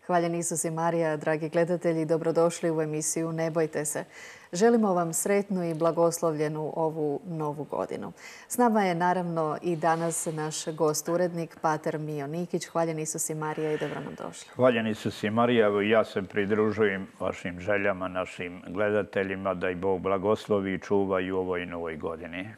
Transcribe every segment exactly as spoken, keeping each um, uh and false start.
Hvaljen Isus i Marija, dragi gledatelji, dobrodošli u emisiju Ne bojte se. Želimo vam sretnu i blagoslovljenu ovu novu godinu. S nama je naravno i danas naš gost urednik, pater Mijo Nikić. Hvaljen Isus i Marija i dobro nam došli. Hvaljen Isus i Marija, evo ja se pridružujem vašim željama, našim gledateljima, da ih Bog blagoslovi i čuva i u ovoj novoj godini.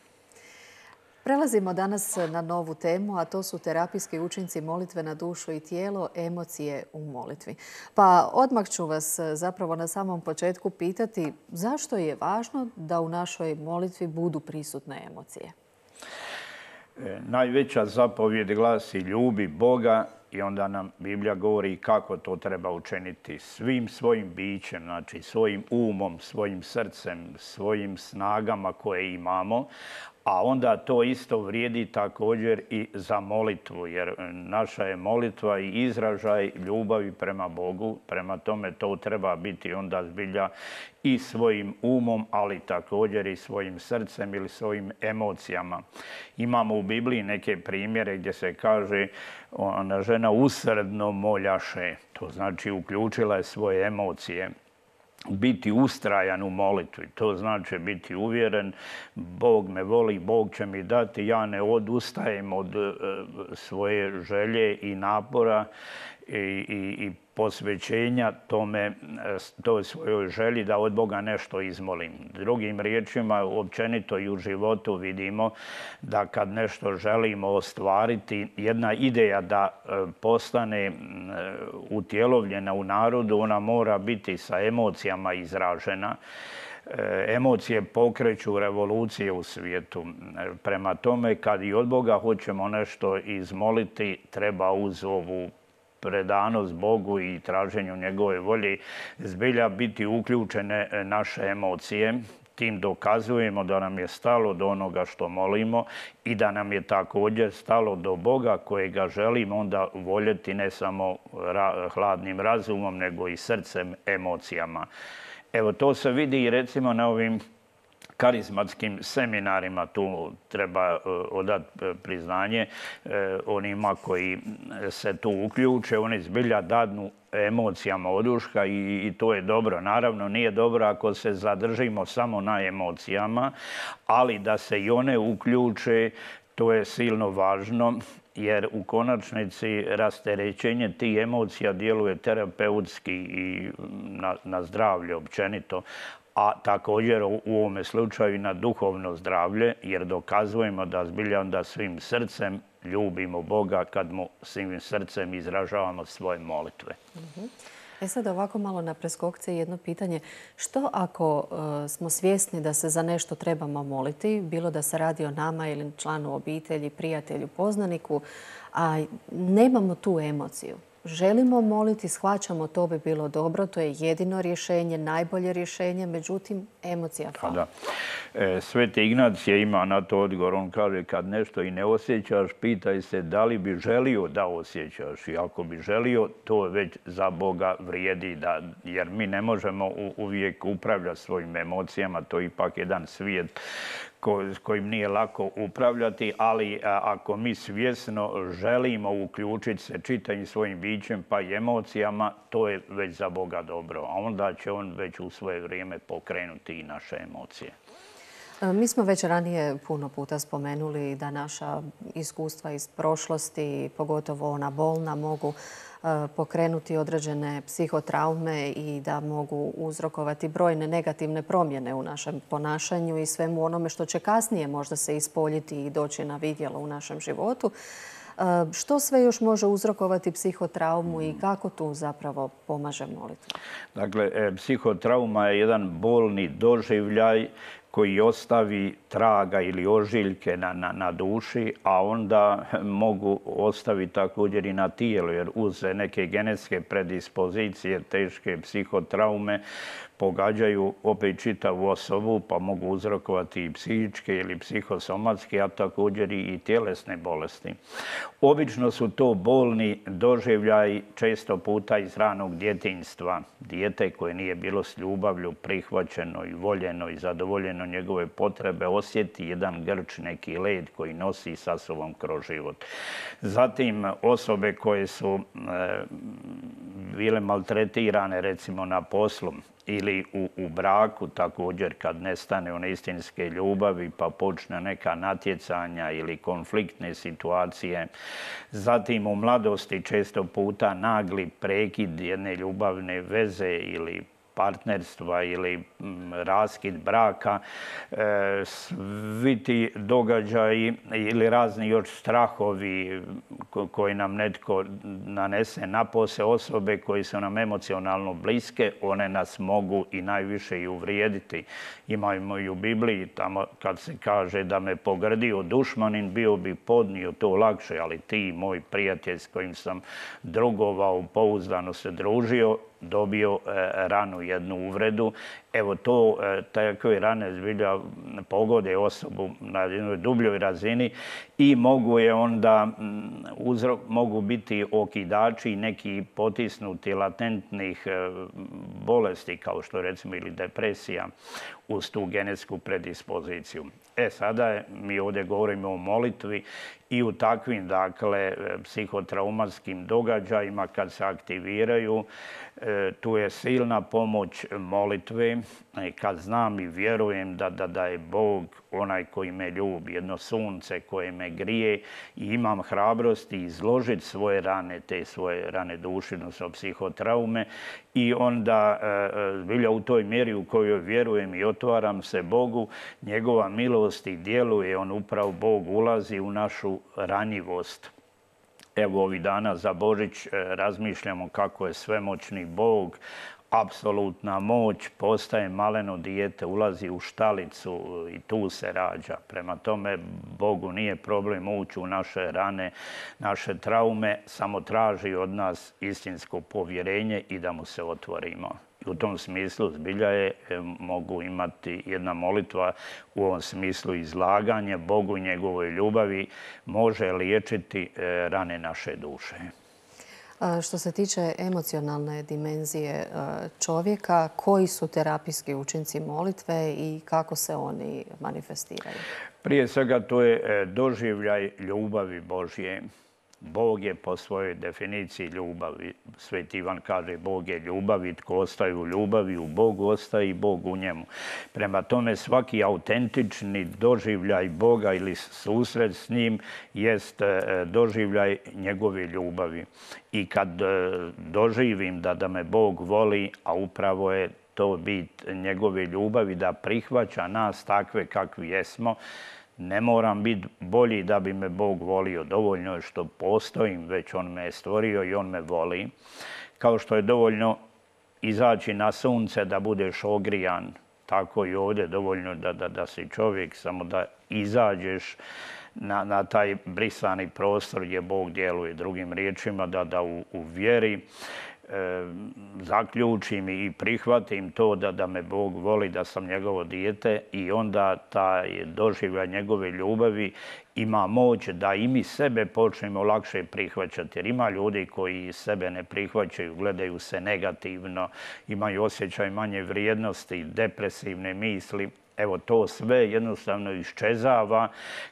Prelazimo danas na novu temu, a to su terapijski učinci molitve na dušu i tijelo, emocije u molitvi. Pa odmah ću vas zapravo na samom početku pitati zašto je važno da u našoj molitvi budu prisutne emocije? Najveća zapovjed glasi ljubi Boga i onda nam Biblija govori kako to treba učiniti svim svojim bićem, znači svojim umom, svojim srcem, svojim snagama koje imamo. A onda to isto vrijedi također i za molitvu, jer naša je molitva i izražaj ljubavi prema Bogu. Prema tome to treba biti onda zbilja i svojim umom, ali također i svojim srcem ili svojim emocijama. Imamo u Bibliji neke primjere gdje se kaže ona žena usrdno moljaše, to znači uključila je svoje emocije. Biti ustrajan u molitvi, to znači biti uvjeren, Bog me voli, Bog će mi dati, ja ne odustajem od svoje želje i napora i, i, i posvećenja tome, toj svojoj želji da od Boga nešto izmolim. Drugim riječima, općenito i u životu vidimo da kad nešto želimo ostvariti, jedna ideja da postane utjelovljena u narodu, ona mora biti sa emocijama izražena. Emocije pokreću revolucije u svijetu. Prema tome, kad i od Boga hoćemo nešto izmoliti, treba uz ovu predanost Bogu i traženju njegove volje zbilja biti uključene naše emocije. Tim dokazujemo da nam je stalo do onoga što molimo i da nam je također stalo do Boga kojega želimo onda voljeti ne samo ra- hladnim razumom nego i srcem, emocijama. Evo to se vidi i recimo na ovim karizmatskim seminarima, tu treba odati priznanje onima koji se tu uključe, oni zbilja dadnu emocijama oduška i, i to je dobro. Naravno, nije dobro ako se zadržimo samo na emocijama, ali da se i one uključe, to je silno važno, jer u konačnici rasterećenje tih emocija djeluje terapeutski i na, na zdravlje općenito, a također u ovome slučaju na duhovno zdravlje, jer dokazujemo da zbilja onda svim srcem ljubimo Boga kad mu svim srcem izražavamo svoje molitve. Uh-huh. E sad ovako malo na preskokce jedno pitanje. Što ako uh, smo svjesni da se za nešto trebamo moliti, bilo da se radi o nama ili članu obitelji, prijatelju, poznaniku, a nemamo tu emociju? Želimo moliti, shvaćamo to bi bilo dobro, to je jedino rješenje, najbolje rješenje, međutim, emocija fali. Da. E, Sveti Ignacije ima na to odgovor. On kaže kad nešto i ne osjećaš, pitaj se da li bi želio da osjećaš. I ako bi želio, to već za Boga vrijedi. Da, jer mi ne možemo u, uvijek upravljati svojim emocijama. To je ipak jedan svijet ko, s kojim nije lako upravljati, ali a, ako mi svjesno želimo uključiti se čitavim svojim bićem pa i emocijama, to je već za Boga dobro. A onda će on već u svoje vrijeme pokrenuti i naše emocije. Mi smo već ranije puno puta spomenuli da naša iskustva iz prošlosti, pogotovo ona bolna, mogu pokrenuti određene psihotraume i da mogu uzrokovati brojne negativne promjene u našem ponašanju i svemu onome što će kasnije možda se ispoljiti i doći na vidjelo u našem životu. Što sve još može uzrokovati psihotraumu i kako tu zapravo pomaže molitva? Dakle, psihotrauma je jedan bolni doživljaj koji ostavi traga ili ožiljke na, na, na duši, a onda mogu ostaviti također i na tijelu, jer uz neke genetske predispozicije, teške psihotraume, pogađaju opet čitavu osobu, pa mogu uzrokovati i psihičke ili psihosomatske, a također i tjelesne bolesti. Obično su to bolni doživljaj često puta iz ranog djetinjstva. Dijete koje nije bilo s ljubavlju prihvaćeno i voljeno i zadovoljeno njegove potrebe osjeti jedan grč, neki led koji nosi sa sobom kroz život. Zatim osobe koje su bile maltretirane recimo na poslu ili u, u braku također kad nestane one istinske ljubavi pa počne neka natjecanja ili konfliktne situacije. Zatim u mladosti često puta nagli prekid jedne ljubavne veze ili partnerstva ili raskid braka, svi ti događaji ili razni još strahovi koji nam netko nanese, napose osobe koji su nam emocionalno bliske, one nas mogu i najviše i uvrijediti. Imamo i u Bibliji tamo kad se kaže da me pogrdio dušmanin, bio bi podnio to lakše, ali ti, moj prijatelj s kojim sam drugovao, pouzdano se družio, dobio ranu, jednu uvredu. Evo to, takve rane zbilja pogode osobu na jednoj dubljoj razini i mogu je onda, uzrok, mogu biti okidači neki potisnuti latentnih bolesti kao što recimo ili depresija uz tu genetsku predispoziciju. E sada je, mi ovdje govorimo o molitvi i u takvim, dakle, psihotraumatskim događajima kad se aktiviraju, tu je silna pomoć molitve. Kad znam i vjerujem da, da, da je Bog onaj koji me ljubi, jedno sunce koje me grije i imam hrabrosti izložiti svoje rane, te svoje rane duše, odnosno psihotraume i onda zbilja u toj mjeri u kojoj vjerujem i otvaram se Bogu, njegova milost i djeluje, on upravo Bog ulazi u našu ranjivost. Evo ovih dana za Božić razmišljamo kako je svemoćni Bog, apsolutna moć, postaje maleno dijete, ulazi u štalicu i tu se rađa. Prema tome, Bogu nije problem ući u naše rane, naše traume, samo traži od nas istinsko povjerenje i da mu se otvorimo. U tom smislu zbilja je, mogu imati jedna molitva u ovom smislu izlaganje Bogu i njegovoj ljubavi može liječiti rane naše duše. Što se tiče emocionalne dimenzije čovjeka, koji su terapijski učinci molitve i kako se oni manifestiraju? Prije svega to je doživljaj ljubavi Božje. Bog je po svojoj definiciji ljubavi. Sveti Ivan kaže Bog je ljubav i tko ostaje u ljubavi, u Bogu ostaje i Bog u njemu. Prema tome svaki autentični doživljaj Boga ili susret s njim jest doživljaj njegove ljubavi. I kad doživim da, da me Bog voli, a upravo je to bit njegove ljubavi, da prihvaća nas takve kakvi jesmo, ne moram biti bolji da bi me Bog volio. Dovoljno je što postojim, već on me je stvorio i on me voli. Kao što je dovoljno izaći na sunce da budeš ogrijan, tako i ovdje dovoljno da, da, da si čovjek, samo da izađeš na, na taj brisani prostor gdje Bog djeluje. Drugim riječima, da, da u, u vjeri zaključim i prihvatim to da, da me Bog voli, da sam njegovo dijete i onda taj doživljaj njegove ljubavi ima moć da i mi sebe počnemo lakše prihvaćati. Jer ima ljudi koji sebe ne prihvaćaju, gledaju se negativno, imaju osjećaj manje vrijednosti, depresivne misli. Evo to sve jednostavno iščezava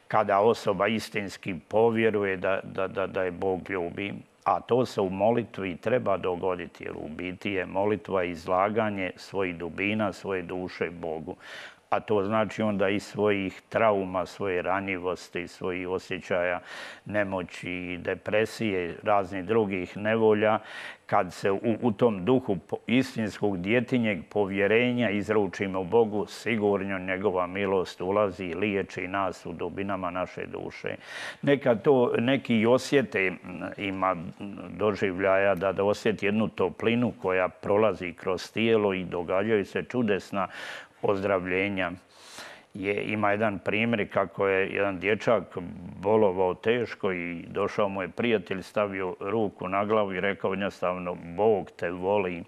kada osoba istinski povjeruje da, da, da, da je Bog ljubi. A to se u molitvi treba dogoditi, jer u biti je molitva izlaganje svojih dubina, svoje duše Bogu. A to znači onda i svojih trauma, svoje ranjivosti, svojih osjećaja nemoći, depresije, raznih drugih nevolja, kad se u, u tom duhu istinskog djetinjeg povjerenja izručimo Bogu, sigurno njegova milost ulazi i liječi nas u dubinama naše duše. Nekad to neki osjete, ima doživljaja da, da osjeti jednu toplinu koja prolazi kroz tijelo i događaju se čudesna ozdravljenja. Je, ima jedan primjer kako je jedan dječak bolovao teško i došao mu je prijatelj, stavio ruku na glavu i rekao jednostavno Bog te voli.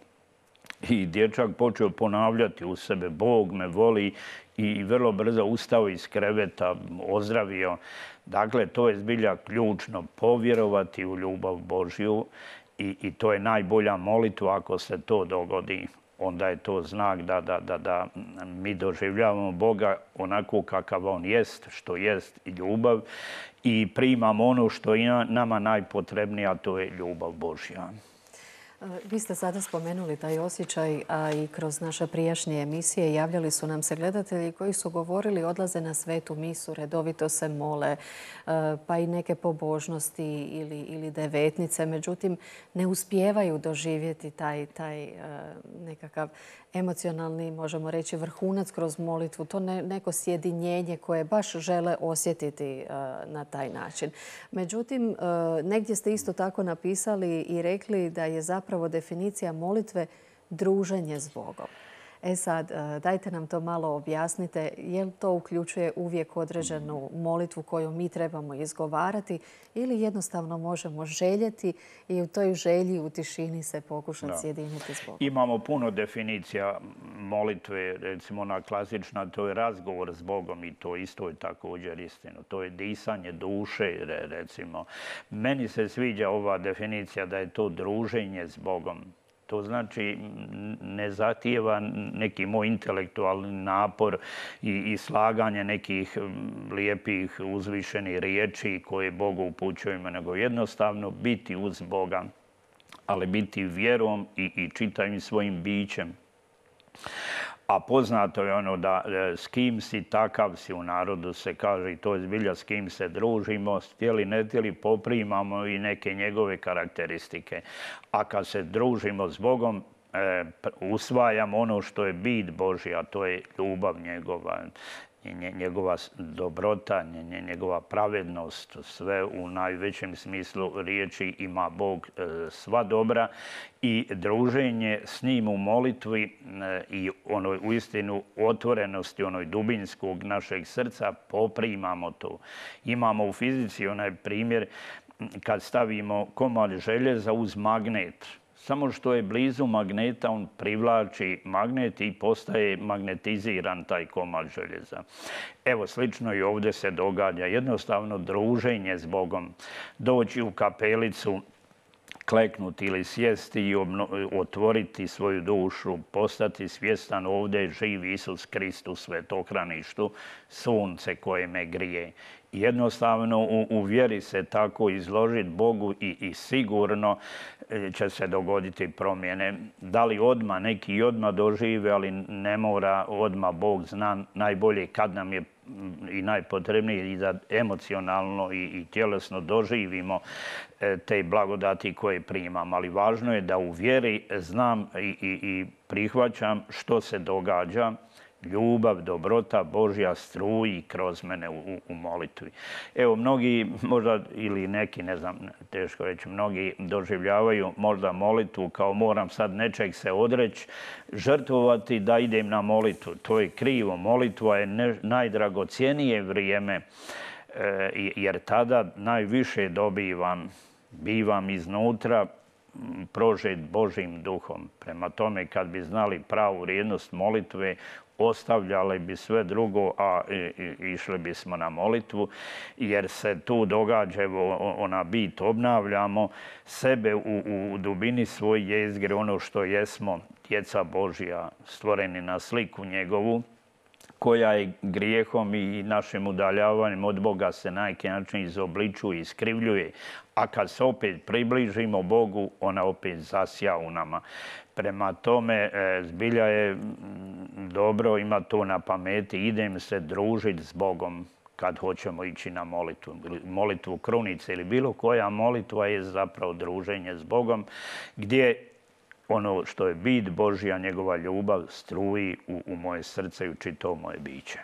I dječak počeo ponavljati u sebe Bog me voli i vrlo brzo ustao iz kreveta, ozdravio. Dakle, to je zbilja ključno, povjerovati u ljubav Božju i, i to je najbolja molitva ako se to dogodi. Onda je to znak da, da, da, da mi doživljavamo Boga onako kakav on jest, što jest i ljubav i primamo ono što je nama najpotrebnije, a to je ljubav Božja. Vi ste sada spomenuli taj osjećaj, a i kroz naše prijašnje emisije javljali su nam se gledatelji koji su govorili odlaze na svetu misu, redovito se mole, pa i neke pobožnosti ili, ili devetnice. Međutim, ne uspijevaju doživjeti taj, taj nekakav emocionalni, možemo reći, vrhunac kroz molitvu. To ne, neko sjedinjenje koje baš žele osjetiti na taj način. Međutim, negdje ste isto tako napisali i rekli da je zapravo definicija molitve druženje s Bogom. E sad, dajte nam to malo objasnite. Je li to uključuje uvijek određenu molitvu koju mi trebamo izgovarati ili jednostavno možemo željeti i u toj želji u tišini se pokušati sjediniti s Bogom? Imamo puno definicija molitve. Recimo ona klasična, to je razgovor s Bogom i to isto je također istino. To je disanje duše, recimo. Meni se sviđa ova definicija da je to druženje s Bogom. To znači ne zahtijeva neki moj intelektualni napor i, i slaganje nekih lijepih uzvišenih riječi koje Bogu upućujemo, nego jednostavno biti uz Boga, ali biti vjerom i, i čitavim svojim bićem. A poznato je ono da s kim si, takav si, u narodu se kaže, i to je zbilja s kim se družimo, htjeli ne htjeli poprimamo i neke njegove karakteristike. A kad se družimo s Bogom, e, usvajamo ono što je bit Božja, a to je ljubav njegova, njegova dobrota, njegova pravednost, sve u najvećem smislu riječi ima Bog sva dobra i druženje s njim u molitvi i onoj uistinu otvorenosti, onoj dubinskog našeg srca poprimamo to. Imamo u fizici onaj primjer kad stavimo komad željeza uz magnet. Samo što je blizu magneta, on privlači magnet i postaje magnetiziran taj komad željeza. Evo, slično i ovdje se događa. Jednostavno druženje s Bogom. Doći u kapelicu, kleknuti ili sjesti i otvoriti svoju dušu, postati svjestan ovdje je živ Isus Kristus, svetohraništu, sunce koje me grije. Jednostavno u, u vjeri se tako izložiti Bogu i, i sigurno će se dogoditi promjene. Da li odmah, neki odmah dožive, ali ne mora odmah. Bog zna najbolje kad nam je i najpotrebnije i da emocionalno i, i tjelesno doživimo te blagodati koje primam. Ali važno je da u vjeri znam i, i, i prihvaćam što se događa. Ljubav, dobrota Božja struji kroz mene u, u molitvi. Evo, mnogi, možda ili neki, ne znam, teško reći, mnogi doživljavaju možda molitvu kao moram sad nečeg se odreći, žrtvovati da idem na molitvu. To je krivo. Molitva je ne, najdragocjenije vrijeme, e, jer tada najviše dobivam, bivam iznutra, prožet Božjim duhom. Prema tome, kad bi znali pravu vrijednost molitve, ostavljali bi sve drugo, a išli bismo na molitvu, jer se tu događa, evo, ona bit, obnavljamo sebe u, u dubini svoje jezgre, ono što jesmo, djeca Božja, stvoreni na sliku njegovu, koja je grijehom i našim udaljavanjem od Boga se na neki način izobličuje, iskrivljuje. A kad se opet približimo Bogu, ona opet zasja u nama. Prema tome, zbilja je dobro ima to na pameti. Idem se družiti s Bogom kad hoćemo ići na molitvu. Molitvu krunice ili bilo koja molitva je zapravo druženje s Bogom, gdje ono što je bit Božja, njegova ljubav, struji u, u moje srce i u čitavo moje biće.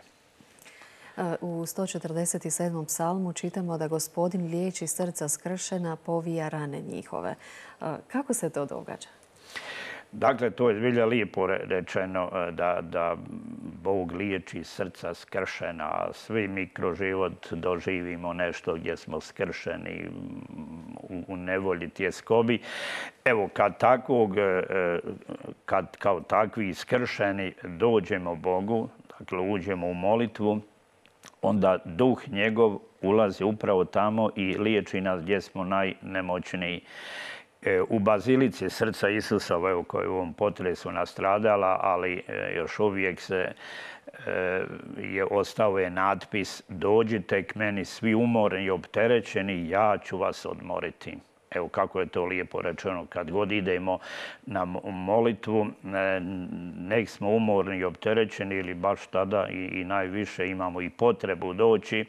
U sto četrdeset sedmom psalmu čitamo da Gospodin liječi srca skršena, povija rane njihove. Kako se to događa? Dakle, to je zbilja lijepo rečeno da, da Bog liječi srca skršena. Svi mi kroz život doživimo nešto gdje smo skršeni, u, u nevolji, tjeskobi. Evo, kad takvog, kad kao takvi skršeni dođemo Bogu, dakle uđemo u molitvu, onda duh njegov ulazi upravo tamo i liječi nas gdje smo najnemoćniji. U bazilici srca Isusova, evo, koja je u ovom potresu nastradala, ali još uvijek se je ostao je natpis dođite k meni svi umorni i opterećeni, ja ću vas odmoriti. Evo kako je to lijepo rečeno, kad god idemo na molitvu, nek smo umorni i opterećeni ili baš tada i, i najviše imamo i potrebu doći,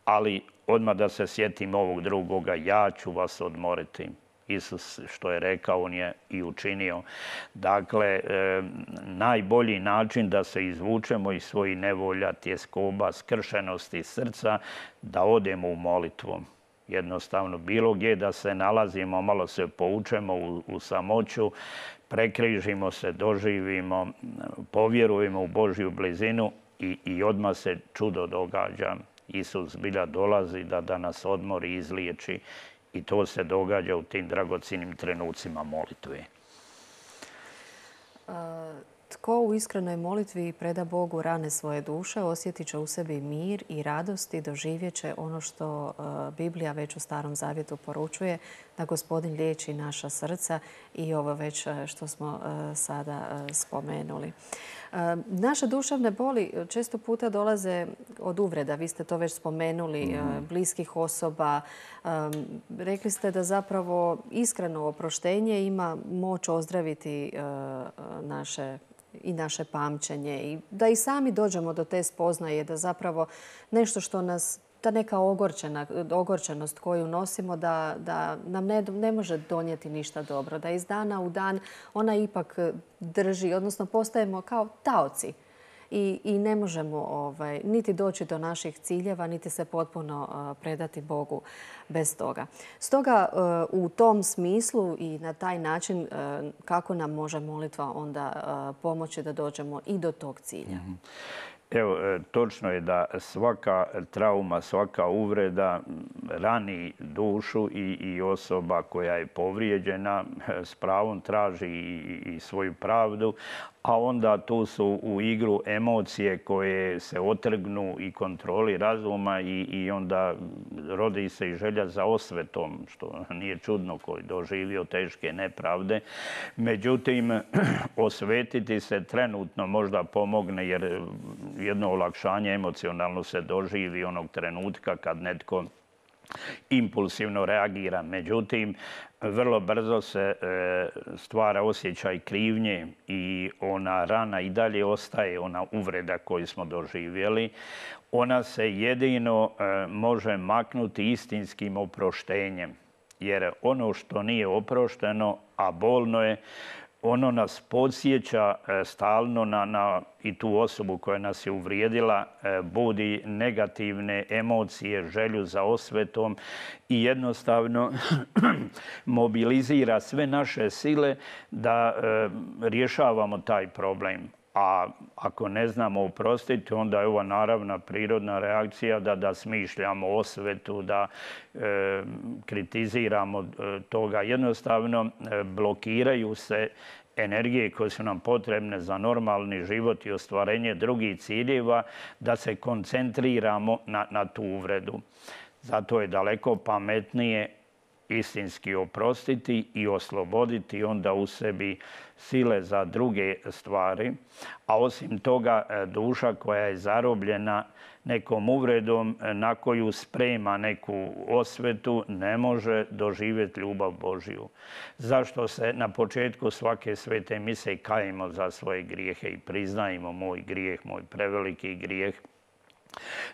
ali odmah da se sjetimo ovog drugoga, ja ću vas odmoriti. Isus što je rekao, on je i učinio. Dakle, e, najbolji način da se izvučemo iz svojih nevolja, tjeskoba, skršenosti srca, da odemo u molitvu. Jednostavno, bilo gdje da se nalazimo, malo se poučemo u, u samoću, prekrižimo se, doživimo, povjerujemo u Božju blizinu i, i odmah se čudo događa. Isus zbilja dolazi da, da nas odmori i izliječi. I to se događa u tim dragocjenim trenucima molitve. Tko u iskrenoj molitvi preda Bogu rane svoje duše, osjetit će u sebi mir i radost i doživjet će ono što Biblija već u Starom Zavjetu poručuje, da Gospodin liječi naša srca i ovo već što smo sada spomenuli. Naše duševne boli često puta dolaze od uvreda. Vi ste to već spomenuli, bliskih osoba. Rekli ste da zapravo iskreno oproštenje ima moć ozdraviti naše i naše pamćenje i da i sami dođemo do te spoznaje da zapravo nešto što nas, ta neka ogorčena, ogorčenost koju nosimo da, da nam ne, ne može donijeti ništa dobro, da iz dana u dan ona ipak drži, odnosno postajemo kao taoci i, i ne možemo ovaj, niti doći do naših ciljeva, niti se potpuno uh, predati Bogu bez toga. Stoga uh, u tom smislu i na taj način uh, kako nam može molitva onda uh, pomoći da dođemo i do tog cilja? Mm-hmm. Evo, točno je da svaka trauma, svaka uvreda rani dušu i, i osoba koja je povrijeđena s pravom traži i, i svoju pravdu, a onda tu su u igru emocije koje se otrgnu i kontroli razuma i, i onda rodi se i želja za osvetom, što nije čudno koji doživio teške nepravde. Međutim, osvetiti se trenutno možda pomogne jer jedno olakšanje emocionalno se doživi onog trenutka kad netko impulsivno reagira. Međutim, vrlo brzo se stvara osjećaj krivnje i ona rana i dalje ostaje, ona uvreda koju smo doživjeli. Ona se jedino može maknuti istinskim oproštenjem. Jer ono što nije oprošteno, a bolno je, ono nas podsjeća stalno na, na i tu osobu koja nas je uvrijedila, budi negativne emocije, želju za osvetom i jednostavno mobilizira sve naše sile da rješavamo taj problem. A ako ne znamo oprostiti, onda je ova naravna prirodna reakcija da, da smišljamo osvetu, da e, kritiziramo toga. Jednostavno e, blokiraju se energije koje su nam potrebne za normalni život i ostvarenje drugih ciljeva, da se koncentriramo na, na tu uvredu. Zato je daleko pametnije istinski oprostiti i osloboditi onda u sebi sile za druge stvari. A osim toga, duša koja je zarobljena nekom uvredom na koju sprema neku osvetu ne može doživjeti ljubav Božju. Zašto se na početku svake svete mise kajemo za svoje grijehe i priznajemo moj grijeh, moj preveliki grijeh?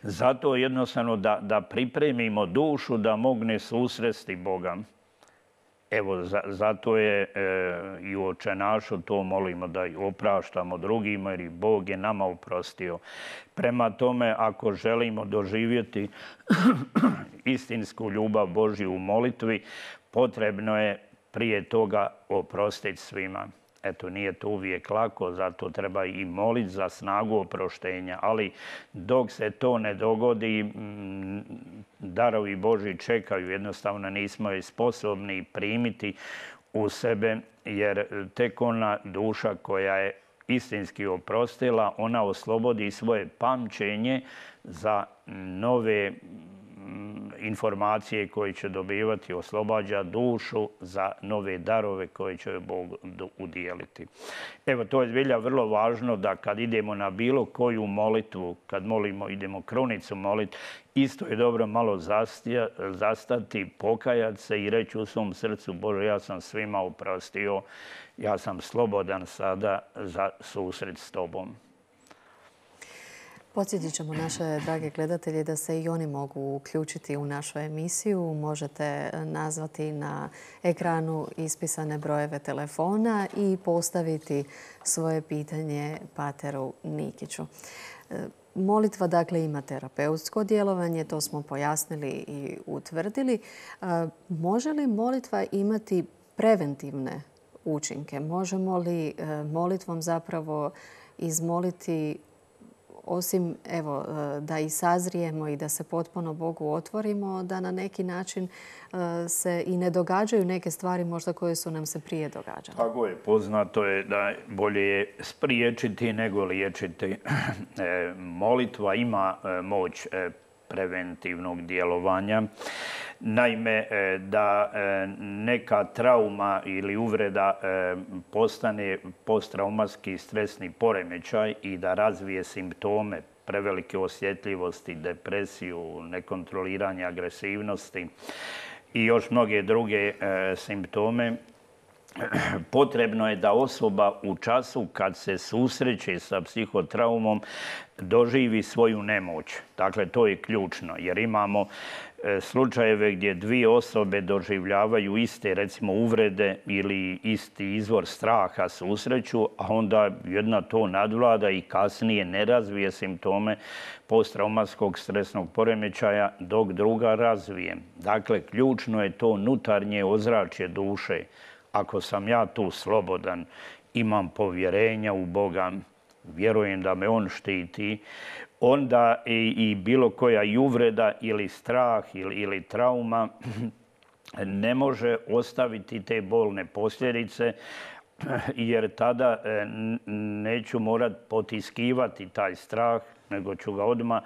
Zato jednostavno da, da pripremimo dušu da mogne susresti Boga. Evo, za, zato je e, i u Očenašu to molimo da i opraštamo drugima jer i Bog je nama oprostio. Prema tome, ako želimo doživjeti istinsku ljubav Božju u molitvi, potrebno je prije toga oprostiti svima. Eto, nije to uvijek lako, zato treba i moliti za snagu oproštenja. Ali dok se to ne dogodi, darovi Božji čekaju. Jednostavno nismo je sposobni primiti u sebe, jer tek ona duša koja je istinski oprostila, ona oslobodi svoje pamćenje za nove informacije koje će dobivati, oslobađa dušu za nove darove koje će Bog udijeliti. Evo, to je zbilja vrlo važno da kad idemo na bilo koju molitvu, kad molimo, idemo krunicu moliti, isto je dobro malo zastija, zastati, pokajati se i reći u svom srcu, Bože, ja sam svima oprostio, ja sam slobodan sada za susret s Tobom. Podsjetit ćemo naše drage gledatelje da se i oni mogu uključiti u našu emisiju. Možete nazvati na ekranu ispisane brojeve telefona i postaviti svoje pitanje pateru Nikiću. Molitva dakle ima terapeutsko djelovanje, to smo pojasnili i utvrdili. Može li molitva imati preventivne učinke? Možemo li molitvom zapravo izmoliti, osim evo, da i sazrijemo i da se potpuno Bogu otvorimo, da na neki način se i ne događaju neke stvari možda koje su nam se prije događale? Tako je, poznato je da bolje je spriječiti nego liječiti. Molitva ima moć preventivnog djelovanja. Naime, da neka trauma ili uvreda postane posttraumatski stresni poremećaj i da razvije simptome prevelike osjetljivosti, depresiju, nekontroliranje agresivnosti i još mnoge druge simptome, potrebno je da osoba u času kad se susreće sa psihotraumom doživi svoju nemoć. Dakle, to je ključno jer imamo slučajeve gdje dvije osobe doživljavaju iste, recimo, uvrede ili isti izvor straha susreću, a onda jedna to nadvlada i kasnije ne razvije simptome posttraumatskog stresnog poremećaja dok druga razvije. Dakle, ključno je to unutarnje ozračje duše. Ako sam ja tu slobodan, imam povjerenja u Boga, vjerujem da me On štiti, onda i, i bilo koja i uvreda ili strah ili, ili trauma ne može ostaviti te bolne posljedice, jer tada neću morat potiskivati taj strah, nego ću ga odmah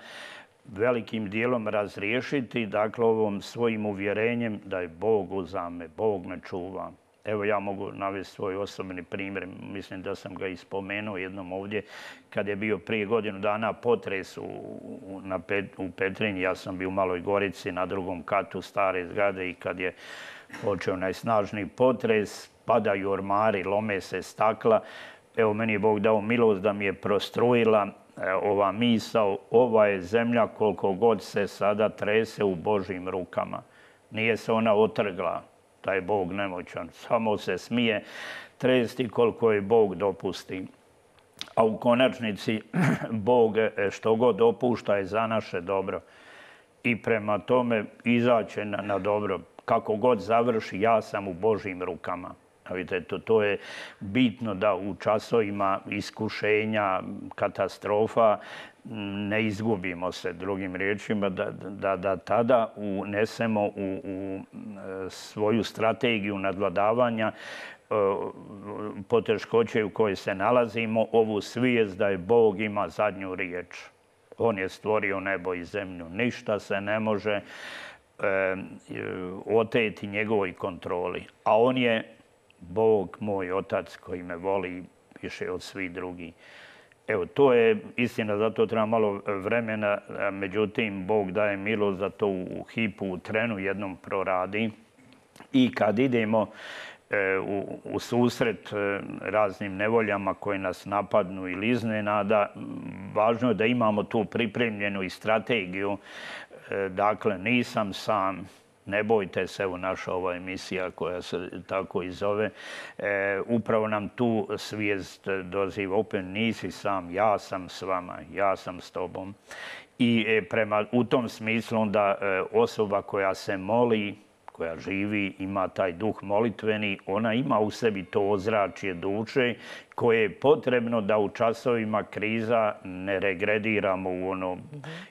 velikim dijelom razriješiti, dakle ovom svojim uvjerenjem da je Bog uza me, Bog me čuva. Evo, ja mogu navesti svoj osobni primjer, mislim da sam ga i spomenuo jednom ovdje, kad je bio prije godinu dana potres u, na Pet, u Petrinji, ja sam bio u Maloj Gorici na drugom katu stare zgrade i kad je počeo najsnažniji potres, padaju ormari, lome se stakla. Evo, meni je Bog dao milost da mi je prostrujila ova misao, ova je zemlja koliko god se sada trese u Božjim rukama. Nije se ona otrgla. Taj Bog nemoćan, samo se smije tresti koliko je Bog dopusti. A u konačnici Bog što god dopušta je za naše dobro. I prema tome izaće na, na dobro. Kako god završi, ja sam u Božjim rukama. Vidite, to, to je bitno da u časovima iskušenja, katastrofa ne izgubimo se, drugim riječima, da, da, da tada unesemo u, u svoju strategiju nadvladavanja poteškoće u kojoj se nalazimo, ovu svijest da je Bog ima zadnju riječ. On je stvorio nebo i zemlju. Ništa se ne može e, oteti njegovoj kontroli. A on je Bog, moj otac, koji me voli više od svih drugih. Evo, to je istina, zato treba malo vremena, međutim, Bog daje milost da to u hipu, u trenu jednom proradi. I kad idemo e, u, u susret e, raznim nevoljama koje nas napadnu ili iznenada, važno je da imamo tu pripremljenu i strategiju. E, dakle, nisam sam. Ne bojte se, evo naša ova emisija koja se tako i zove, e, upravo nam tu svijest doziva. Opet nisi sam, ja sam s vama, ja sam s tobom. I e, prema, u tom smislu onda e, osoba koja se moli, koja živi, ima taj duh molitveni, ona ima u sebi to ozračje duše koje je potrebno da u časovima kriza ne regrediramo u ono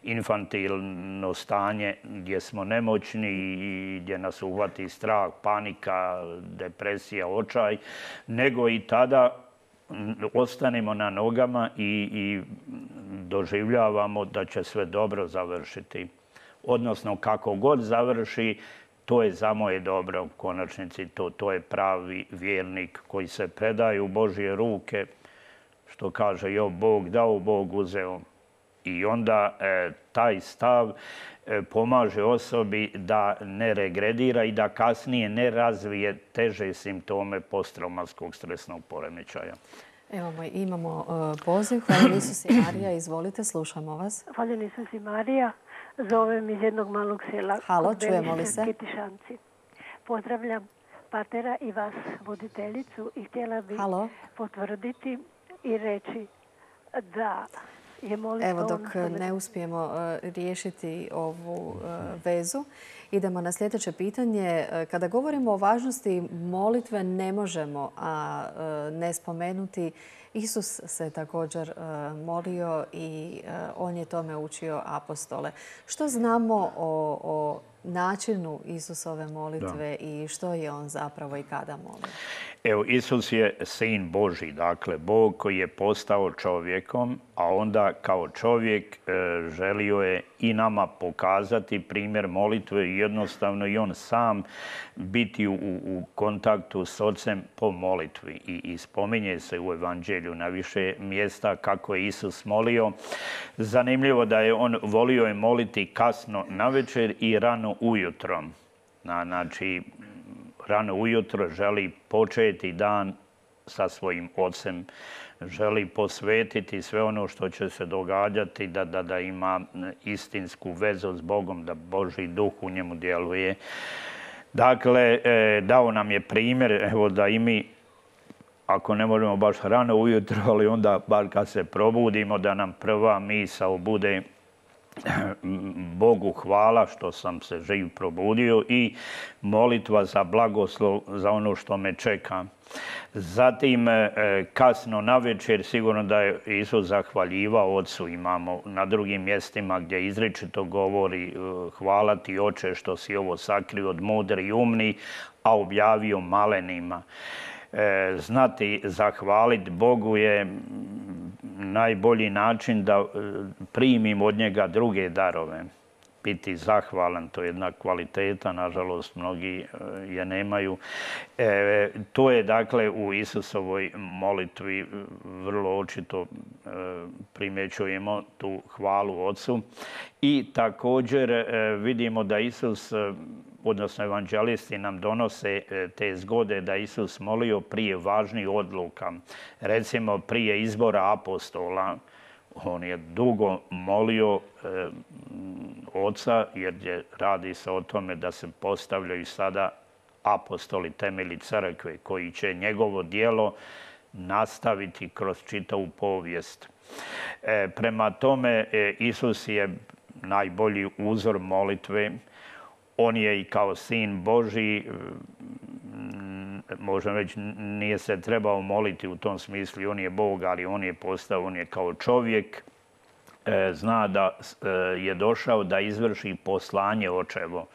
infantilno stanje gdje smo nemoćni i gdje nas uhvati strah, panika, depresija, očaj, nego i tada ostanemo na nogama i, i doživljavamo da će sve dobro završiti. odnosno kako god završi, to je za moje dobro u konačnici. To, to je pravi vjernik koji se predaje u Božje ruke, što kaže Job, Bog dao, Bog uzeo. I onda e, taj stav e, pomaže osobi da ne regredira i da kasnije ne razvije teže simptome posttraumatskog stresnog poremećaja. Evo, imamo uh, poziv. Hvala Isus i Marija. Izvolite, slušamo vas. Hvala Isus i Marija. Zovem iz jednog malog sela. Halo, čujemo li se? Kitišanci. Pozdravljam patera i vas, voditeljicu, i htjela bih Halo. potvrditi i reći da je molitva... Evo, dok ne uspijemo uh, riješiti ovu uh, vezu, idemo na sljedeće pitanje. Kada govorimo o važnosti molitve, ne možemo a uh, ne spomenuti. Isus se također uh, molio i uh, on je tome učio apostole. Što znamo o, o načinu Isusove molitve da. I što je on zapravo i kada molio? Evo, Isus je sin Božji, dakle Bog koji je postao čovjekom, a onda kao čovjek e, želio je i nama pokazati primjer molitve i jednostavno i on sam biti u, u kontaktu s Ocem po molitvi. I, i spominje se u Evanđelju na više mjesta kako je Isus molio. Zanimljivo da je on volio je moliti kasno navečer i rano ujutro. Na, znači, rano ujutro želi početi dan sa svojim Ocem, želi posvetiti sve ono što će se događati, da, da, da ima istinsku vezu s Bogom, da Božji duh u njemu djeluje. Dakle, dao nam je primjer, evo da i mi, ako ne možemo baš rano ujutro, ali onda bar kad se probudimo, da nam prva misao bude Bogu hvala što sam se živ probudio i molitva za blagoslov za ono što me čeka. Zatim, kasno navečer, sigurno da je Isus zahvaljivao Ocu. Imamo na drugim mjestima gdje izričito govori hvala ti Oče što si ovo sakrio od mudri i umni, a objavio malenima. Znati zahvaliti Bogu je najbolji način da primim od njega druge darove. Biti zahvalan, to je jedna kvaliteta, nažalost mnogi je nemaju. E, to je dakle u Isusovoj molitvi vrlo očito e, primjećujemo tu hvalu Ocu. I također e, vidimo da Isus, odnosno evanđelisti nam donose te zgode da Isus molio prije važnih odluka. Recimo prije izbora apostola. On je dugo molio e, Oca jer je, radi se o tome da se postavljaju sada apostoli, temelji crkve koji će njegovo djelo nastaviti kroz čitavu povijest. E, prema tome, e, Isus je najbolji uzor molitve. On je i kao sin Božji, možemo reći, nije se trebao moliti u tom smislu, on je Bog, ali on je postao, on je kao čovjek, zna da je došao da izvrši poslanje Očevo.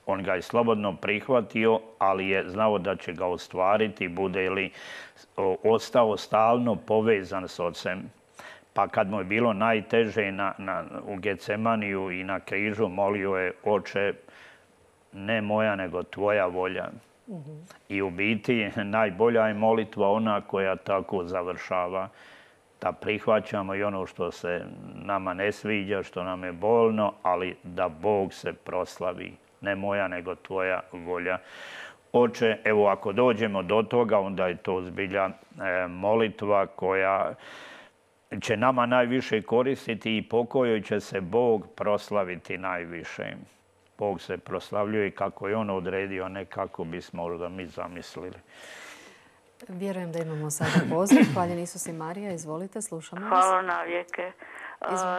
On ga je slobodno prihvatio, ali je znao da će ga ostvariti, bude li ostao stalno povezan s Ocem. Pa kad mu je bilo najteže na, na, u Getsemaniju i na križu, molio je Oče, ne moja, nego tvoja volja. Mm-hmm. I u biti najbolja je molitva ona koja tako završava. Da prihvaćamo i ono što se nama ne sviđa, što nam je bolno, ali da Bog se proslavi. Ne moja, nego tvoja volja. Oče, evo ako dođemo do toga, onda je to zbilja e, molitva koja će nama najviše koristiti i po kojoj će se Bog proslaviti najviše. Bog se proslavljuje kako je on odredio, a ne kako bismo možda mi zamislili. Vjerujem da imamo sada poziv. Hvaljen Isus i Marija, izvolite, slušamo vas. Hvala na vijeke.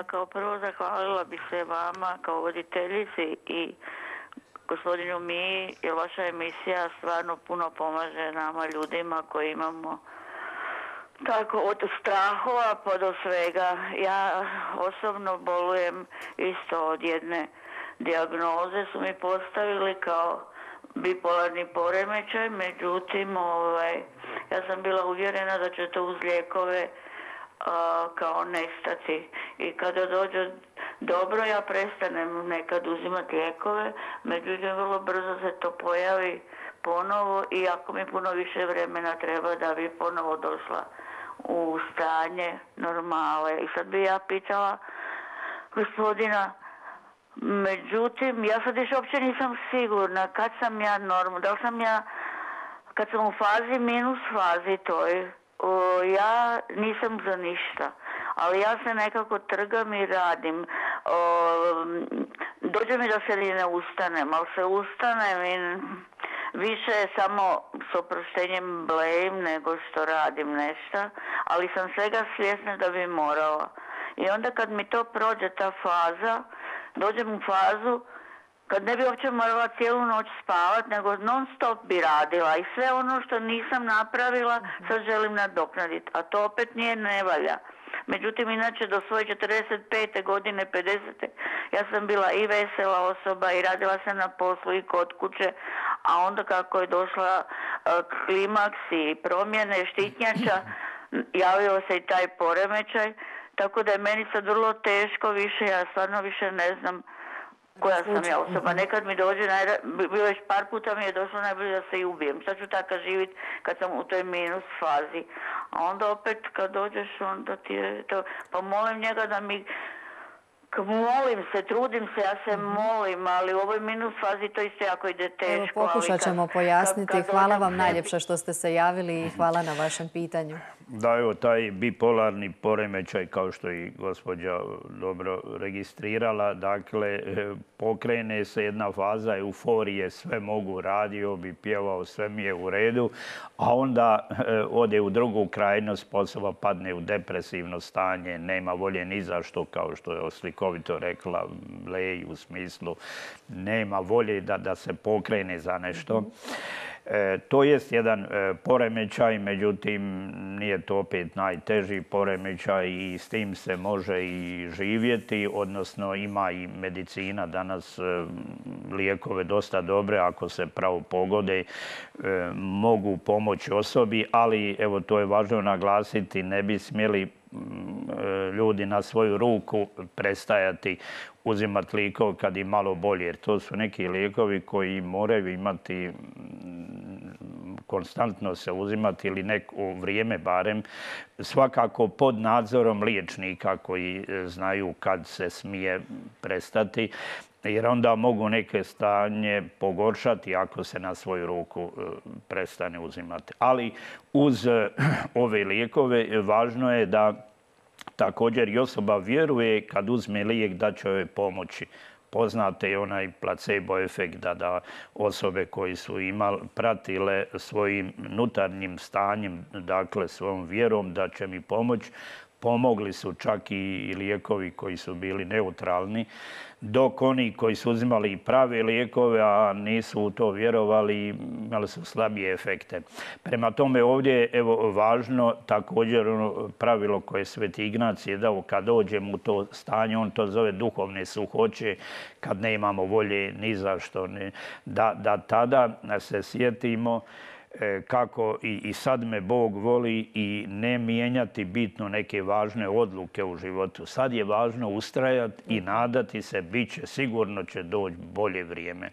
Kao prvo zahvalila bih se vama kao voditeljici i gospodinu Miji, jer vaša emisija stvarno puno pomaže nama ljudima koji imamo tako od strahova pa do svega. Ja osobno bolujem isto od jedne dijagnoze, su mi postavili kao bipolarni poremećaj, međutim ovaj, ja sam bila uvjerena da će to uz lijekove a, kao nestati. I kada dođe dobro, ja prestanem nekad uzimati lijekove, međutim vrlo brzo se to pojavi ponovo i ako mi puno više vremena treba da bi ponovo došla u stanje normale. I sad bi ja pitala gospodina, međutim, ja sad više uopće nisam sigurna kad sam ja normalna, da li sam ja, kad sam u fazi minus fazi toj, o, ja nisam za ništa, ali ja se nekako trgam i radim. O, dođe mi da se ni ne ustanem, ali se ustanem i više je samo s oproštenjem blejim nego što radim nešto, ali sam svega svjesna da bi morala. I onda kad mi to prođe ta faza, dođem u fazu kad ne bi uopće morala cijelu noć spavat, nego non stop bi radila i sve ono što nisam napravila sad želim nadoknaditi, a to opet nije nevalja. Međutim, inače do svoje četrdeset pete godine, pedesete ja sam bila i vesela osoba i radila sam na poslu i kod kuće, a onda kako je došla uh, klimaks i promjene štitnjača, javio se i taj poremećaj, tako da je meni sad vrlo teško više, ja stvarno više ne znam koja sam ja osoba. Nekad mi dođe, bilo već par puta mi je došlo najbolje da se i ubijem. Sad ću tako živjeti kad sam u toj minus fazi. A onda opet kad dođeš, onda ti je to... Pa molim njega da mi... Molim se, trudim se, ja se molim, ali u ovoj minus fazi to isto jako ide teško. Evo, pokušat ćemo pojasniti. Hvala vam najljepša što ste se javili i hvala na vašem pitanju. Da, evo, taj bipolarni poremećaj, kao što i gospođa dobro registrirala, dakle, pokrene se jedna faza euforije, sve mogu, radio bi, pjevao, sve mi je u redu, a onda ode u drugu krajnost, osoba padne u depresivno stanje, nema volje ni za što, kao što je slikovito rekla Lej, u smislu nema volje da, da se pokrene za nešto. E, to jest jedan e, poremećaj, međutim nije to opet najteži poremećaj i s tim se može i živjeti, odnosno ima i medicina danas e, lijekove dosta dobre, ako se pravo pogode, e, mogu pomoći osobi, ali evo to je važno naglasiti, ne bi smjeli ljudi na svoju ruku prestajati uzimati lijekove kad im malo bolje, jer to su neki lijekovi koji moraju imati konstantno se uzimati ili neko vrijeme barem, svakako pod nadzorom liječnika koji znaju kad se smije prestati, jer onda mogu neke stanje pogoršati ako se na svoju ruku prestane uzimati. Ali uz ove lijekove važno je da također i osoba vjeruje kad uzme lijek da će joj pomoći. Poznate je onaj placebo efekt da, da osobe koji su imali, pratile svojim unutarnjim stanjem, dakle svojom vjerom da će mi pomoći, pomogli su čak i lijekovi koji su bili neutralni, dok oni koji su uzimali i prave lijekove, a nisu u to vjerovali, imali su slabije efekte. Prema tome ovdje je evo, važno također ono pravilo koje Sveti Ignacij je dao kad dođemo u to stanje, on to zove duhovne suhoće, kad ne imamo volje ni za što, ne, da, da tada se sjetimo kako i, i sad me Bog voli i ne mijenjati bitno neke važne odluke u životu. Sad je važno ustrajati i nadati se, bit će, sigurno će doći bolje vrijeme.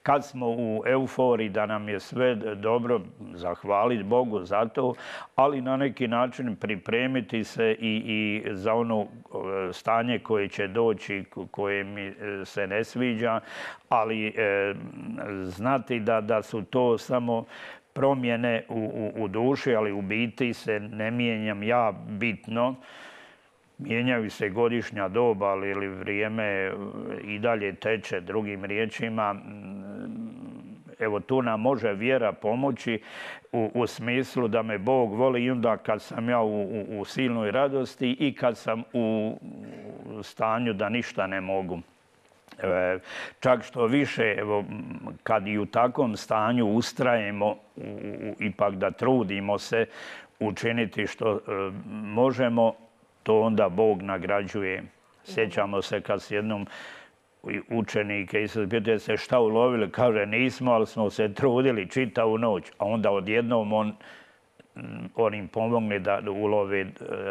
Kad smo u euforiji da nam je sve dobro, zahvaliti Bogu za to, ali na neki način pripremiti se i, i za ono stanje koje će doći, koje mi se ne sviđa, ali e, znati da, da su to samo promjene u, u, u duši, ali u biti se ne mijenjam ja bitno. Mijenjaju se godišnja doba, ali vrijeme i dalje teče, drugim riječima. Evo tu nam može vjera pomoći u, u smislu da me Bog voli i onda kad sam ja u, u, u silnoj radosti i kad sam u stanju da ništa ne mogu. Čak što više, evo, kad i u takvom stanju ustrajemo, ipak da trudimo se učiniti što e, možemo, to onda Bog nagrađuje. Sjećamo se kad s jednom učenike i se pitaju se šta ulovili, kaže nismo, ali smo se trudili čitavu noć, a onda odjednom on on im pomogne da ulove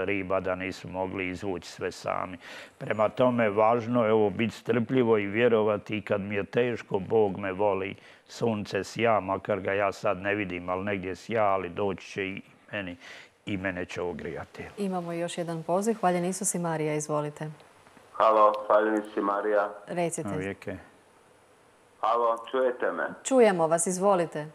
riba, da nisu mogli izvući sve sami. Prema tome, važno je ovo biti strpljivo i vjerovati i kad mi je teško, Bog me voli. Sunce sja, makar ga ja sad ne vidim, ali negdje sja, ali doći će i meni i mene će ogrijati. Imamo još jedan poziv. Hvaljen Isus i Marija, izvolite. Halo, hvaljen Isus i Marija. Recite. Uvijek je. Halo, čujete me? Čujemo vas, izvolite.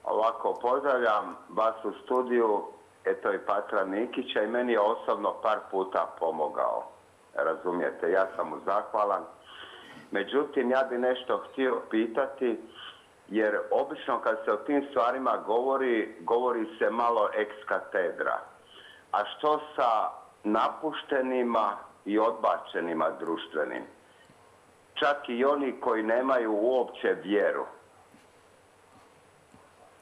Ovako, pozdravljam vas u studiju, eto i Patra Nikića i meni je osobno par puta pomogao. Razumijete, ja sam mu zahvalan. Međutim, ja bi nešto htio pitati, jer obično kad se o tim stvarima govori, govori se malo ex katedra. A što sa napuštenima i odbačenima društvenim? Čak i oni koji nemaju uopće vjeru.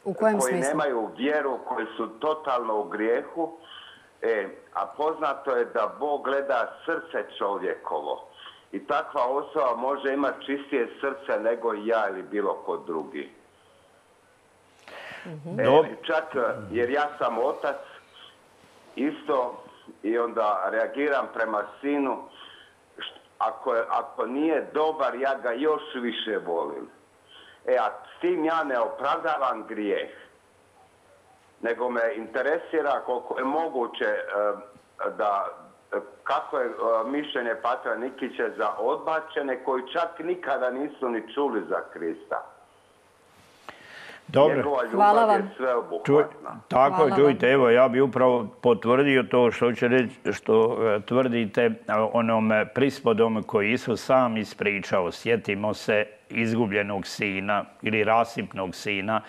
U kojem koji smislu? nemaju vjeru, koji su totalno u grijehu. E, a poznato je da Bog gleda srce čovjekovo. I takva osoba može imati čistije srce nego i ja ili bilo ko drugi. Mm-hmm. E, čak jer ja sam otac isto i onda reagiram prema sinu. Ako, je, ako nije dobar, ja ga još više volim. E, a s tim ja ne opravdavam grijeh. Nego me interesira koliko je moguće da, kako je mišljenje Patra Nikića za odbačene koji čak nikada nisu ni čuli za Krista. Dobro. Njegova Hvala ljubav vam. je sveobuhvatna. Tako je, Hvala čujte, evo ja bi upravo potvrdio to što će reći, što e, tvrdite onom prispodom koji Isus sam ispričao. Sjetimo se izgubljenog sina ili rasipnog sina.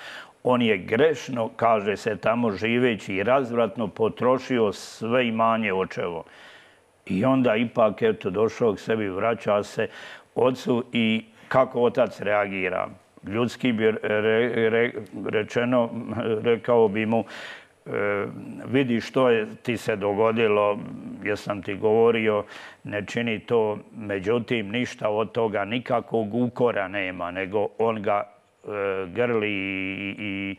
On je grešno, kaže se tamo živeći i razvratno potrošio sve imanje očevo. I onda ipak, eto, došao k sebi, vraća se ocu i kako otac reagira. Ljudski bi re, re, rečeno, rekao bi mu, e, vidi što je ti se dogodilo, jesam ti govorio, ne čini to, međutim ništa od toga, nikakvog ukora nema, nego on ga e, grli i, i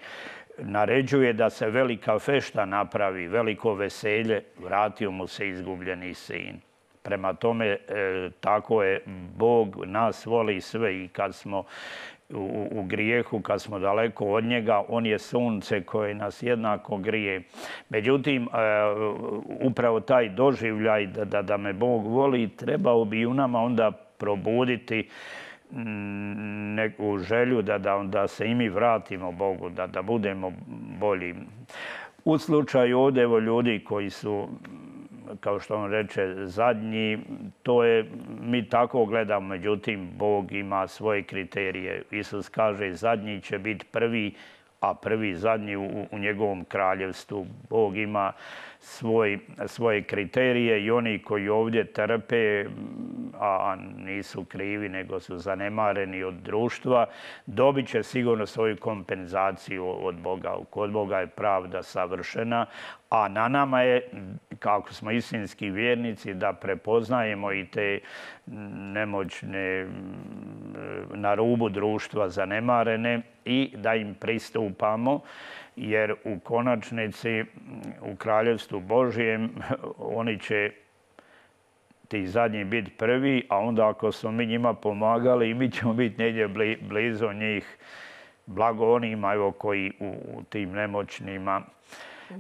naređuje da se velika fešta napravi, veliko veselje, vratio mu se izgubljeni sin. Prema tome, e, tako je, Bog nas voli sve i kad smo U, u grijehu, kad smo daleko od njega, on je sunce koje nas jednako grije. Međutim, e, upravo taj doživljaj da, da, da me Bog voli, trebao bi u nama onda probuditi neku želju da, da, da se i mi vratimo Bogu, da, da budemo bolji. U slučaju ovdje evo, ljudi koji su, kao što on reče, zadnji, to je, mi tako gledamo, međutim, Bog ima svoje kriterije. Isus kaže, zadnji će biti prvi, a prvi zadnji u, u njegovom kraljevstvu. Bog ima svoj, svoje kriterije i oni koji ovdje trpe, a nisu krivi, nego su zanemareni od društva, dobit će sigurno svoju kompenzaciju od Boga. Kod Boga je pravda savršena, a na nama je, kako smo istinski vjernici, da prepoznajemo i te nemoćne, na rubu društva zanemarene i da im pristupamo, jer u konačnici u Kraljevstvu Božijem oni će ti zadnji biti prvi, a onda ako smo mi njima pomagali, mi ćemo biti negdje blizu njih. Blago onima evo, koji u tim nemoćnima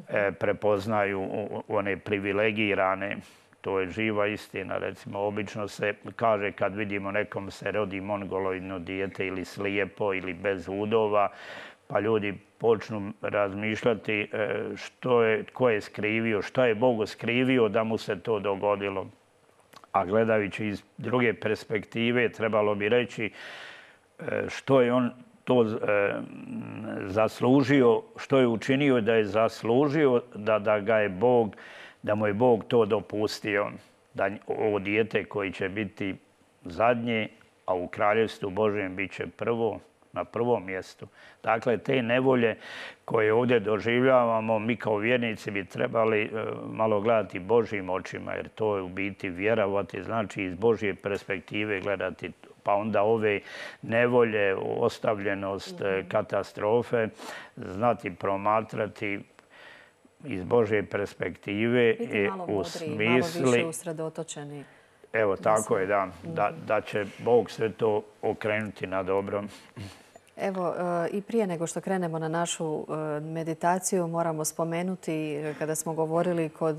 e, prepoznaju one privilegirane. To je živa istina. Recimo, obično se kaže kad vidimo nekom se rodi mongoloidno dijete ili slijepo ili bez udova, pa ljudi počnu razmišljati što je, tko je skrivio, što je Bog skrivio da mu se to dogodilo. A gledajući iz druge perspektive, trebalo bi reći što je on to zaslužio, što je učinio da je zaslužio da, da ga je Bog, da mu je Bog to dopustio, da ovo dijete koji će biti zadnje, a u Kraljevstvu Božjem bit će prvo, na prvom mjestu. Dakle, te nevolje koje ovdje doživljavamo, mi kao vjernici bi trebali malo gledati Božjim očima, jer to je u biti vjerovati, znači iz Božje perspektive gledati, pa onda ove nevolje, ostavljenost, katastrofe, znati promatrati iz Božje perspektive biti malo u modriji, malo smisli... više usredotočeni. Evo, tako je, da, da, da će Bog sve to okrenuti na dobro. Evo, i prije nego što krenemo na našu meditaciju, moramo spomenuti kada smo govorili kod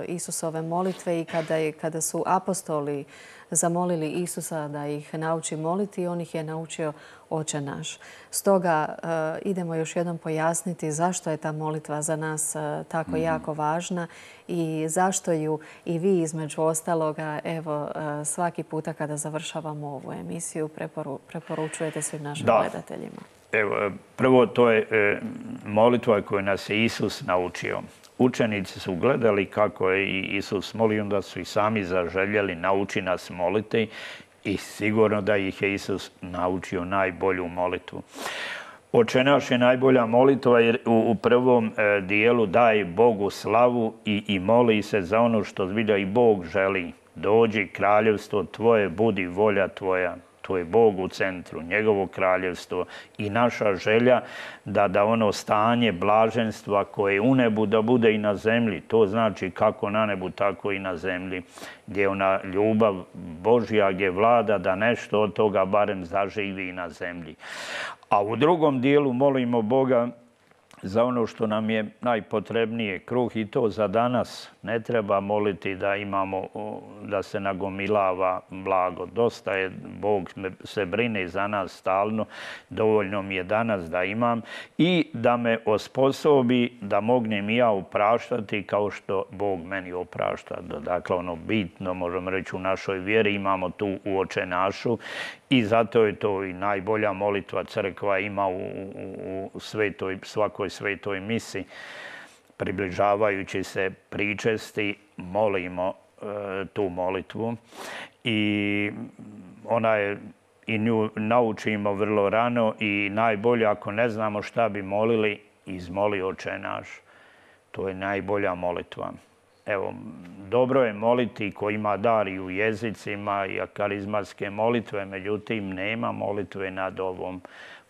Isusove molitve i kada, kada su apostoli zamolili Isusa da ih nauči moliti, on ih je naučio Oče naš. Stoga idemo još jednom pojasniti zašto je ta molitva za nas tako mm. jako važna i zašto ju i vi između ostaloga, evo, svaki puta kada završavamo ovu emisiju preporu, preporučujete svim našim da. gledateljima. Evo, prvo to je e, molitva koju nas je Isus naučio. Učenici su gledali kako je i Isus molio, onda su i sami zaželjeli nauči nas moliti i sigurno da ih je Isus naučio najbolju molitvu. Oče naš je najbolja molitva jer u, u prvom e, dijelu daje Bogu slavu i, i moli se za ono što zbilja i Bog želi. Dođi kraljevstvo tvoje, budi volja tvoja. To je Bog u centru, njegovo kraljevstvo i naša želja da, da ono stanje blaženstva koje je u nebu da bude i na zemlji. To znači kako na nebu, tako i na zemlji. Gdje ona ljubav Božja gdje vlada da nešto od toga barem zaživi i na zemlji. A u drugom dijelu molimo Boga za ono što nam je najpotrebnije, kruh i to za danas. Ne treba moliti da imamo, da se nagomilava blago. Dosta je, Bog se brine za nas stalno, dovoljno mi je danas da imam i da me osposobi da mognem i ja opraštati kao što Bog meni oprašta. Dakle, ono bitno, možemo reći, u našoj vjeri imamo tu u Oče našu i zato je to i najbolja molitva crkva ima u, u, u svetoj, svakoj svetoj misi. Približavajući se pričesti, molimo e, tu molitvu i ona je, i nju naučimo vrlo rano i najbolje ako ne znamo šta bi molili, izmoli Oče naš. To je najbolja molitva. Evo, dobro je moliti ko ima dar i u jezicima i karizmatske molitve, međutim nema molitve nad ovom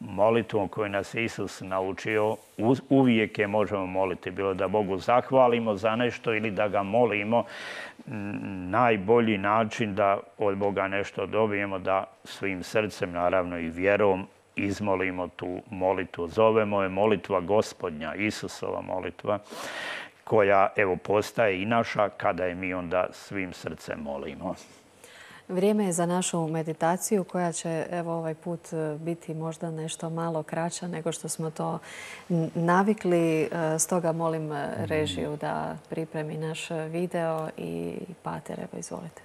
molitvom koju nas Isus naučio. Uvijek je možemo moliti, bilo da Bogu zahvalimo za nešto ili da ga molimo. Najbolji način da od Boga nešto dobijemo, da svim srcem, naravno i vjerom, izmolimo tu molitvu. Zovemo je molitva Gospodnja, Isusova molitva, koja evo postaje i naša kada je mi onda svim srcem molimo. Vrijeme je za našu meditaciju koja će evo ovaj put biti možda nešto malo kraća nego što smo to navikli. Stoga molim režiju da pripremi naš video i Pater, evo izvolite.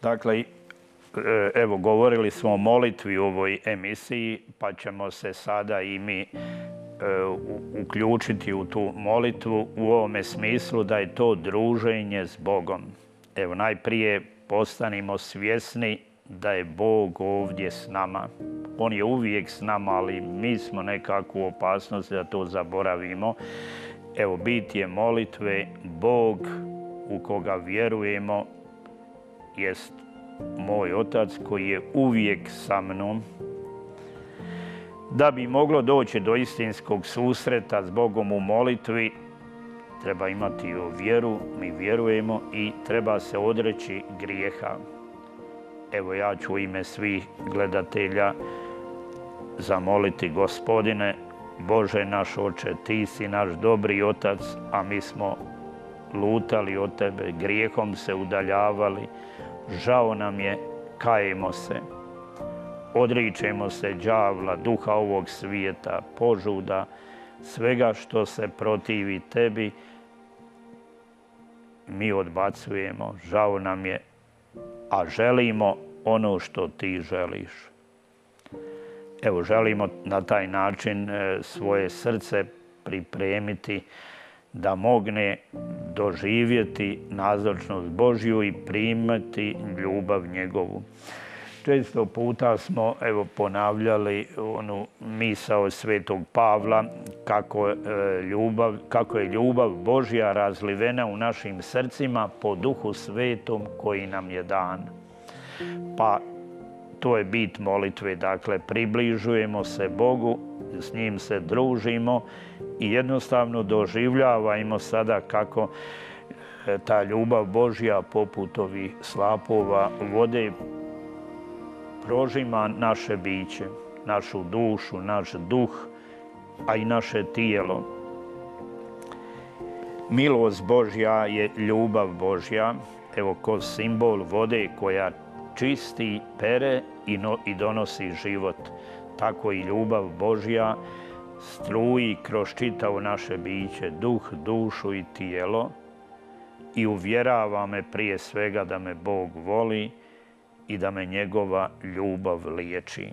Dakle, evo govorili smo o molitvi u ovoj emisiji, pa ćemo se sada i mi uključiti u tu molitvu u ovome smislu da je to druženje s Bogom. Evo, najprije postanimo svjesni da je Bog ovdje s nama. On je uvijek s nama, ali mi smo nekako u opasnosti da to zaboravimo. Evo, bit je molitve, Bog u koga vjerujemo jest moj Otac koji je uvijek sa mnom. Da bi moglo doći do istinskog susreta s Bogom u molitvi, treba imati vjeru, mi vjerujemo i treba se odreći grijeha. Evo ja ću u ime svih gledatelja zamoliti Gospodine, Bože naš Oče, Ti si naš dobri Otac, a mi smo lutali od Tebe, grijehom se udaljavali, žao nam je, kajemo se. Odričemo se đavla, duha ovog svijeta, požuda, svega što se protivi Tebi, mi odbacujemo, žao nam je, a želimo ono što Ti želiš. Evo, želimo na taj način svoje srce pripremiti da mogne doživjeti nazočnost Božju i primati ljubav njegovu. Često puta smo evo, ponavljali onu misao svetog Pavla kako, e, ljubav, kako je ljubav Božja razlivena u našim srcima po Duhu Svetom koji nam je dan. Pa to je bit molitve, dakle približujemo se Bogu s njim se družimo i jednostavno doživljavajmo sada kako ta ljubav Božja poput ovih slapova vode prožima naše biće, našu dušu, naš duh, a i naše tijelo. Milost Božja je ljubav Božja, evo ko simbol vode koja čisti, pere i, no, i donosi život. Tako i ljubav Božja struji kroz čitavo naše biće, duh, dušu i tijelo i uvjerava me prije svega da me Bog voli i da me njegova ljubav liječi.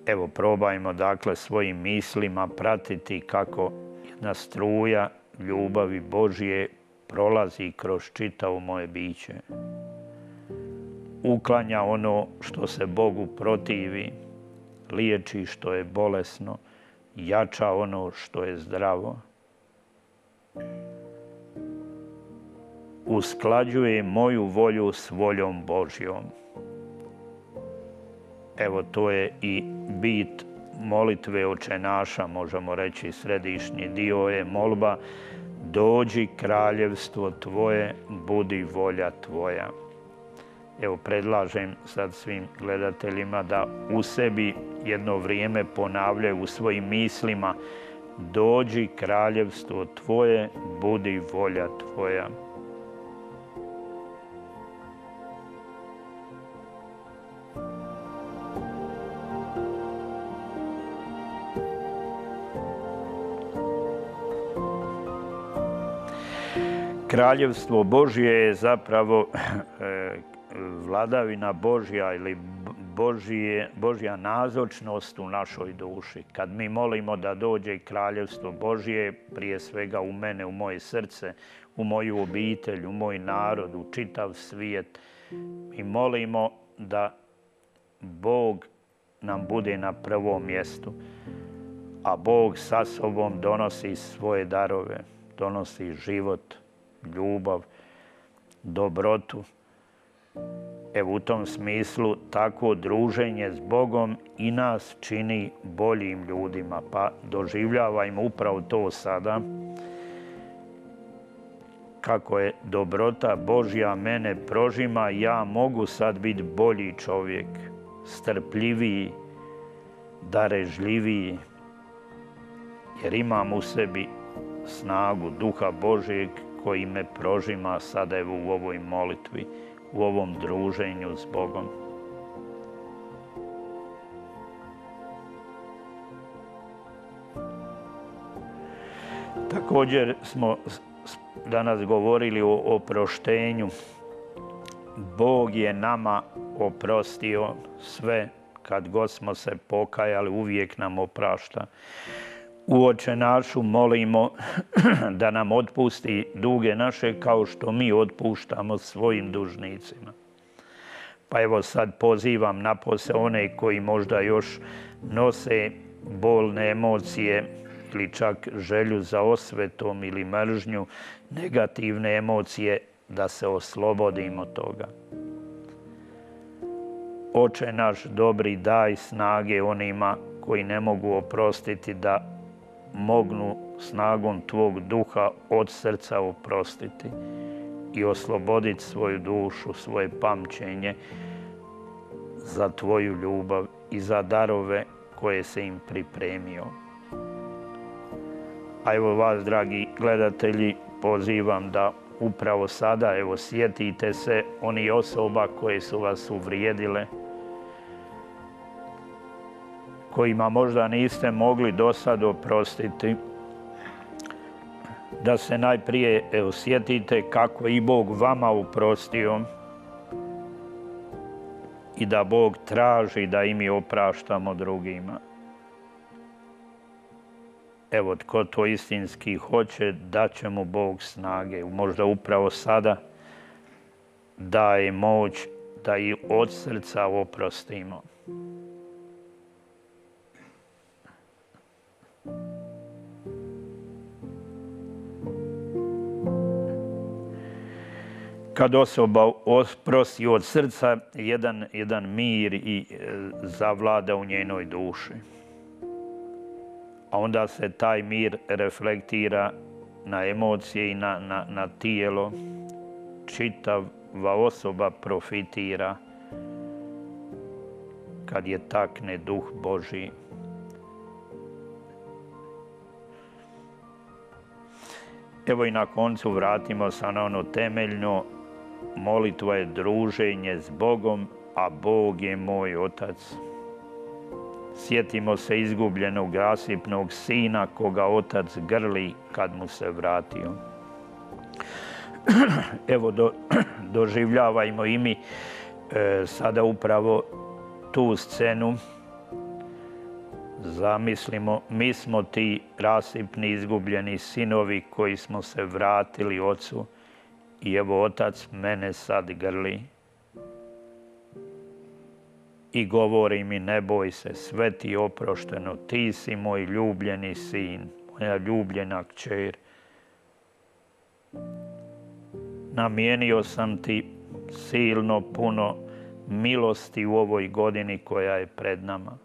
Evo, probajmo dakle svojim mislima pratiti kako jedna struja ljubavi Božje prolazi kroz čitavo moje biće. Uklanja ono što se Bogu protivi, liječi što je bolesno, jača ono što je zdravo. Usklađuje moju volju s voljom Božjom. Evo, to je i bit molitve Oče naša, možemo reći središnji dio je molba: dođi kraljevstvo tvoje, budi volja tvoja. Evo, predlažem sad svim gledateljima da u sebi jedno vrijeme ponavljaju u svojim mislima: dođi kraljevstvo tvoje, budi volja tvoja. Kraljevstvo Božje je zapravo vladavina Božja ili Božje, Božja nazočnost u našoj duši. Kad mi molimo da dođe kraljevstvo Božje, prije svega u mene, u moje srce, u moju obitelj, u moj narod, u čitav svijet, mi molimo da Bog nam bude na prvom mjestu, a Bog sa sobom donosi svoje darove, donosi život, ljubav, dobrotu. Evo, u tom smislu tako druženje s Bogom i nas čini boljim ljudima, pa doživljavajmo upravo to sada, kako je dobrota Božja mene prožima, ja mogu sad biti bolji čovjek, strpljiviji, darežljiviji, jer imam u sebi snagu Duha Božjeg koji me prožima sada evo u ovoj molitvi, u ovom druženju s Bogom. Također smo danas govorili o oproštenju. Bog je nama oprostio sve, kad god smo se pokajali, uvijek nam oprašta. U Oče našu molimo da nam otpusti duge naše kao što mi otpuštamo svojim dužnicima. Pa evo sad pozivam napose one koji možda još nose bolne emocije ili čak želju za osvetom ili mržnju, negativne emocije, da se oslobodimo toga. Oče naš dobri, daj snage onima koji ne mogu oprostiti da mognu snagom tvog duha od srca oprostiti i osloboditi svoju dušu, svoje pamćenje za tvoju ljubav i za darove koje se im pripremio. A evo vas, dragi gledatelji, pozivam da upravo sada, evo, sjetite se onih osoba koje su vas uvrijedile, kojima možda niste mogli do sad oprostiti, da se najprije evo, sjetite kako i Bog vama oprostio i da Bog traži da i mi opraštamo drugima. Evo, tko to istinski hoće, daće mu Bog snage. Možda upravo sada daje moć da i od srca oprostimo. Kad osoba oprosti od srca, jedan, jedan mir i zavlada u njenoj duši. a onda se taj mir reflektira na emocije i na, na, na tijelo. Čitava osoba profitira kad je takne duh Božji. Evo i na koncu vratimo se na ono temeljno. Molitva je druženje s Bogom, a Bog je moj otac. Sjetimo se izgubljenog rasipnog sina koga otac grli kad mu se vratio. Evo, do, doživljavajmo i mi e, sada upravo tu scenu. Zamislimo, mi smo ti rasipni izgubljeni sinovi koji smo se vratili ocu i evo otac mene sad grli. I govori mi, ne boj se, sve ti je oprošteno, ti si moj ljubljeni sin, moja ljubljena kćer. Namijenio sam ti silno puno milosti u ovoj godini koja je pred nama.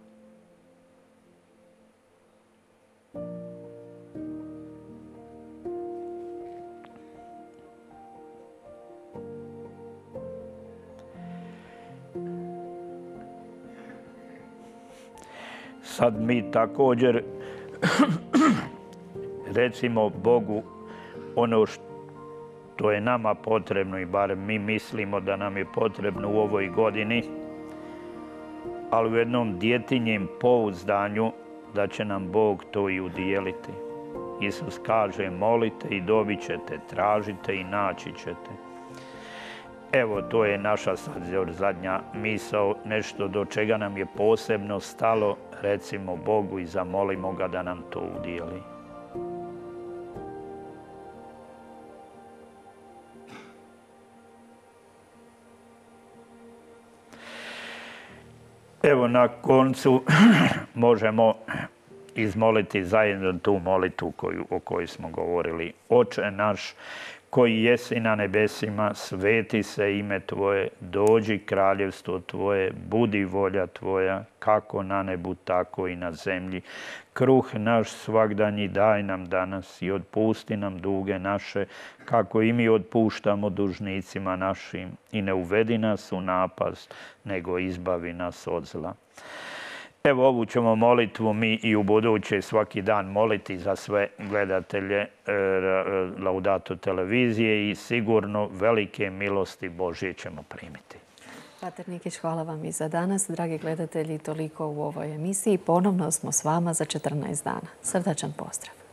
Sad mi također recimo Bogu ono što je nama potrebno i barem mi mislimo da nam je potrebno u ovoj godini, ali u jednom djetinjem pouzdanju da će nam Bog to i udijeliti. Isus kaže, molite i dobit ćete, tražite i naći ćete. Evo, to je naša sad zadnja misao, nešto do čega nam je posebno stalo, recimo Bogu i zamolimo ga da nam to udijeli. Evo, na koncu možemo izmoliti zajedno tu molitvu koju, o kojoj smo govorili. Oče naš, koji jesi na nebesima, sveti se ime Tvoje, dođi kraljevstvo Tvoje, budi volja Tvoja, kako na nebu, tako i na zemlji. Kruh naš svagdanji daj nam danas i otpusti nam duge naše, kako i mi otpuštamo dužnicima našim. I ne uvedi nas u napast, nego izbavi nas od zla. Evo, ovu ćemo molitvu mi i u buduće svaki dan moliti za sve gledatelje Laudato televizije i sigurno velike milosti Božje ćemo primiti. Pater Nikić, hvala vam i za danas. Dragi gledatelji, toliko u ovoj emisiji. Ponovno smo s vama za četrnaest dana. Srdačan pozdrav.